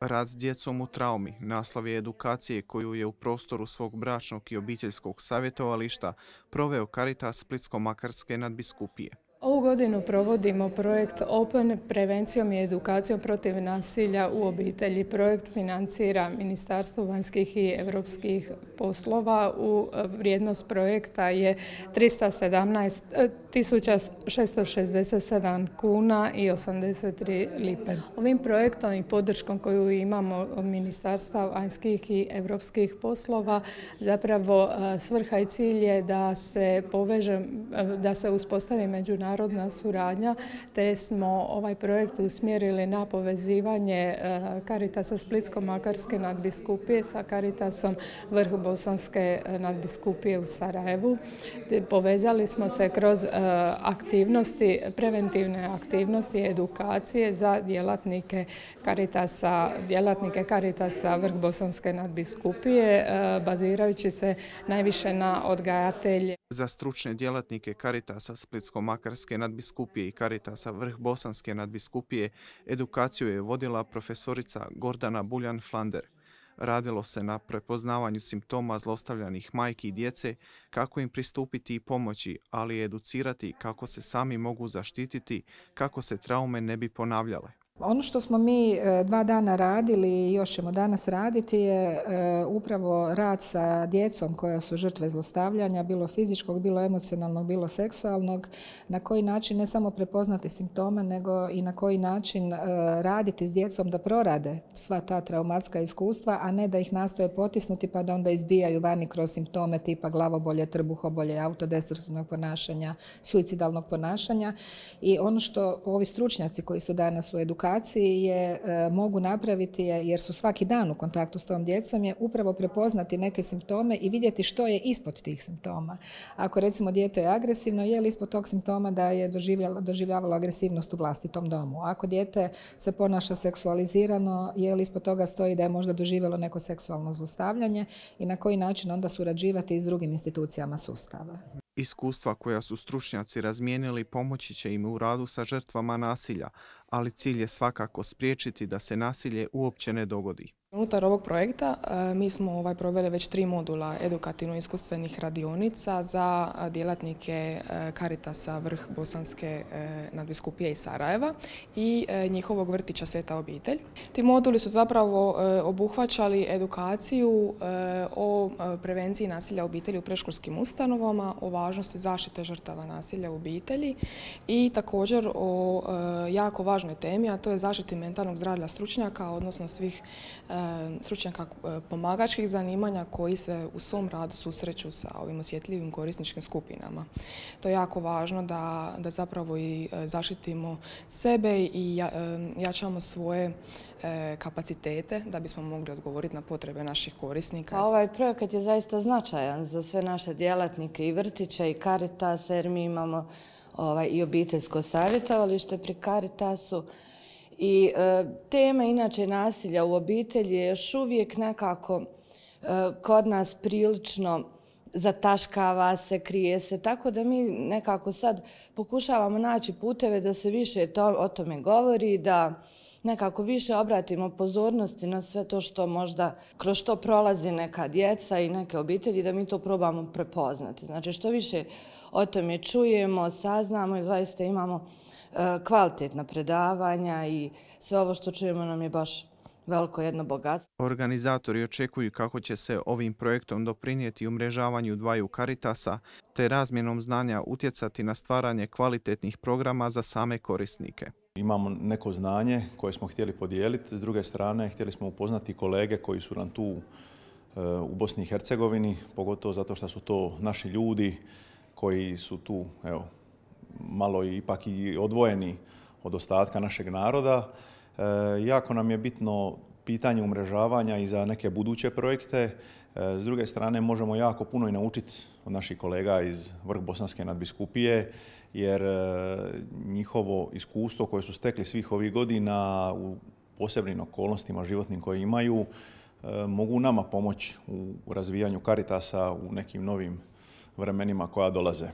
Rad s djecom u traumi naslov je edukacije koju je u prostoru svog bračnog i obiteljskog savjetovališta proveo Caritas Splitsko-makarske nadbiskupije. Ovu godinu provodimo projekt Open prevencijom i edukacijom protiv nasilja u obitelji. Projekt financira Ministarstvo vanjskih i europskih poslova. Vrijednost projekta je 317.667 kuna i 83 lipe. Ovim projektom i podrškom koju imamo od Ministarstva vanjskih i europskih poslova zapravo svrha i cilj je da se da se uspostavi međunarodna suradnja, te smo ovaj projekt usmjerili na povezivanje Caritasa Splitsko-makarske nadbiskupije sa Caritasom Vrh Bosanske nadbiskupije u Sarajevu. Povezali smo se kroz aktivnosti, preventivne aktivnosti i edukacije za djelatnike Caritasa Vrh Bosanske nadbiskupije, bazirajući se najviše na odgajatelje. Za stručne djelatnike Caritasa Splitsko-makarske nadbiskupije i Caritasa Vrh Bosanske nadbiskupije edukaciju je vodila profesorica Gordana Buljan-Flander. Radilo se na prepoznavanju simptoma zlostavljanih majki i djece, kako im pristupiti i pomoći, ali i educirati kako se sami mogu zaštititi, kako se traume ne bi ponavljale. Ono što smo mi 2 dana radili i još ćemo danas raditi je upravo rad sa djecom koja su žrtve zlostavljanja, bilo fizičkog, bilo emocionalnog, bilo seksualnog, na koji način ne samo prepoznati simptome, nego i na koji način raditi s djecom da prorade sva ta traumatska iskustva, a ne da ih nastoje potisnuti pa da onda izbijaju vani kroz simptome tipa glavobolje, trbuhobolje, autodestruktivnog ponašanja, suicidalnog ponašanja. I ono što ovi stručnjaci koji su danas u edukaciji mogu napraviti jer su svaki dan u kontaktu s tom djecom je upravo prepoznati neke simptome i vidjeti što je ispod tih simptoma. Ako recimo dijete je agresivno, je li ispod tog simptoma da je doživljavalo agresivnost u vlastitom domu? Ako dijete se ponaša seksualizirano, je li ispod toga stoji da je možda doživjelo neko seksualno zlostavljanje i na koji način onda surađivati s drugim institucijama sustava? Iskustva koja su stručnjaci razmijenili pomoći će im u radu sa žrtvama nasilja, ali cilj je svakako spriječiti da se nasilje uopće ne dogodi. Unutar ovog projekta mi smo proveli već 3 modula edukativno-iskustvenih radionica za djelatnike Caritasa Vrh Bosanske nadbiskupije i Sarajeva i njihovog vrtića Sveta obitelj. Ti moduli su zapravo obuhvaćali edukaciju o prevenciji nasilja u obitelji u predškolskim ustanovama, o važnosti zaštite žrtava nasilja u obitelji i također o jako važnoj temi, a to je zaštiti mentalnog zdravlja stručnjaka, odnosno svih stručnjaka pomagačkih zanimanja koji se u svom radu susreću sa ovim osjetljivim korisničkim skupinama. To je jako važno da zapravo i zaštitimo sebe i jačamo svoje kapacitete da bismo mogli odgovoriti na potrebe naših korisnika. Ovaj projekat je zaista značajan za sve naše djelatnike i vrtića i Caritasa, jer mi imamo i obiteljsko savjetovalište pri Caritasu. I tema inače nasilja u obitelji je još uvijek nekako kod nas prilično zataškava se, krije se, tako da mi nekako sad pokušavamo naći puteve da se više o tome govori, da nekako više obratimo pozornosti na sve to što možda kroz što prolazi neka djeca i neke obitelji, da mi to probamo prepoznati. Znači što više o tome čujemo, saznamo i zaista imamo kvalitetna predavanja i sve ovo što čujemo nam je baš veliko jedno bogatstvo. Organizatori očekuju kako će se ovim projektom doprinijeti umrežavanju dvaju Caritasa te razmjenom znanja utjecati na stvaranje kvalitetnih programa za same korisnike. Imamo neko znanje koje smo htjeli podijeliti, s druge strane htjeli smo upoznati kolege koji su nam tu u Bosni i Hercegovini, pogotovo zato što su to naši ljudi koji su tu, evo, malo ipak i odvojeni od ostatka našeg naroda. Jako nam je bitno pitanje umrežavanja i za neke buduće projekte. S druge strane možemo jako puno i naučiti od naših kolega iz Vrh Bosanske nadbiskupije, jer njihovo iskustvo koje su stekli svih ovih godina u posebnim okolnostima životnim koje imaju mogu nama pomoći u razvijanju Caritasa u nekim novim vremenima koja dolaze.